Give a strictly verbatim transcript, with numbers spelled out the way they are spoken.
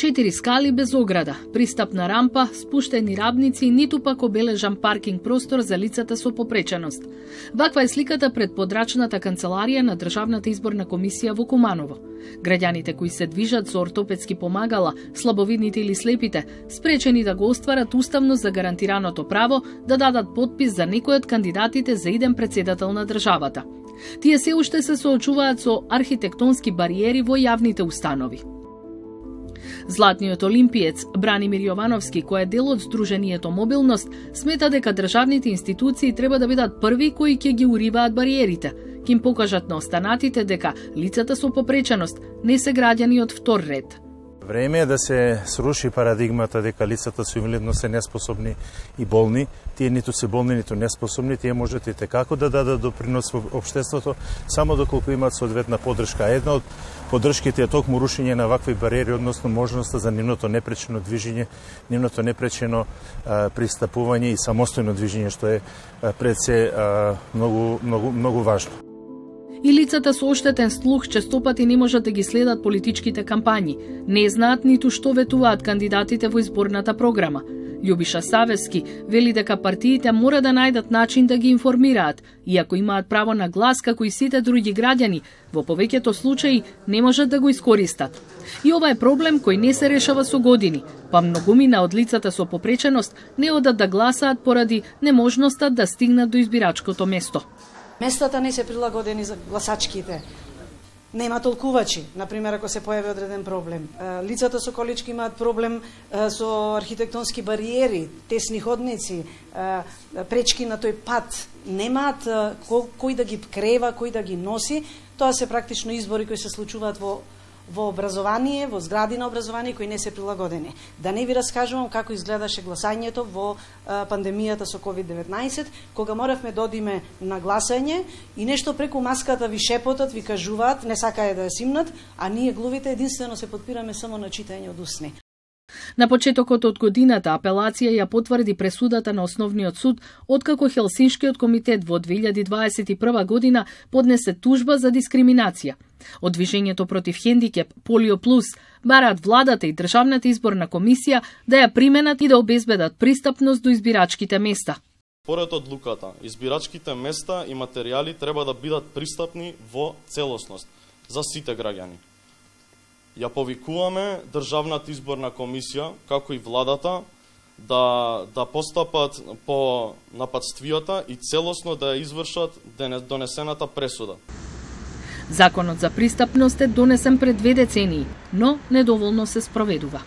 четири скали без ограда, пристапна рампа, спуштени рабници, ниту пак обележан паркинг простор за лицата со попреченост. Ваква е сликата пред подрачната канцеларија на Државната изборна комисија во Куманово. Граѓаните кои се движат со ортопедски помагала, слабовидните или слепите, спречени да го остварат уставно загарантираното право да дадат подпис за некој од кандидатите за иден претседател на државата. Тие се уште се соочуваат со архитектонски бариери во јавните установи. Златниот олимпиец Бранимир Јовановски, кој е дел од Сдруженијето Мобилност, смета дека државните институции треба да бидат први кои ќе ги уриваат бариерите, ќе им покажат на останатите дека лицата со попреченост не се граѓани од втор ред. Време е да се сруши парадигмата дека лицата со инвалидност се неспособни и болни. Тие ниту се болни, ниту неспособни, тие можат и текако да дадат допринос во општеството, само доколку имаат соодветна поддршка. Една од поддршките е токму рушење на вакви бариери, односно можноста за нивното непречено движење, нивното непречено а, пристапување и самостојно движење, што е а, пред се а, многу, многу, многу важно. И лицата со оштетен слух честопати не можат да ги следат политичките кампањи, не знаат ниту што ветуваат кандидатите во изборната програма. Љубиша Савевски вели дека партиите мора да најдат начин да ги информираат, иако имаат право на глас како и сите други граѓани, во повеќето случаи не можат да го искористат. И ова е проблем кој не се решава со години, па многумина од лицата со попреченост не одат да гласаат поради неможноста да стигнат до избирачкото место. Местата не се прилагодени за гласачките. Нема толкувачи, например, ако се појави одреден проблем. Лицата со колички имаат проблем со архитектонски бариери, тесни ходници, пречки на тој пат. Немаат кој да ги крева, кој да ги носи. Тоа се практично избори кои се случуваат во во образование, во згради на образование кои не се прилагодени. Да не ви раскажувам како изгледаше гласањето во а, пандемијата со ковид деветнаесет, кога моравме да одиме на гласање и нешто преку маската ви шепотат, ви кажуваат, не сакаја да ја симнат, а ние глувите единствено се потпираме само на читање од усни. На почетокот од годината апелација ја потврди пресудата на Основниот суд, откако Хелсиншкиот комитет во две илјади дваесет и прва година поднесе тужба за дискриминација. Од движењето против хендикеп Полио Плюс бараат владата и Државната изборна комисија да ја применат и да обезбедат пристапност до избирачките места. Според одлуката, избирачките места и материјали треба да бидат пристапни во целосност за сите граѓани. Ја повикуваме Државната изборна комисија, како и владата, да, да постапат по нападствијата и целосно да ја извршат донесената пресуда. Законот за пристапност е донесен пред две децении, но недоволно се спроведува.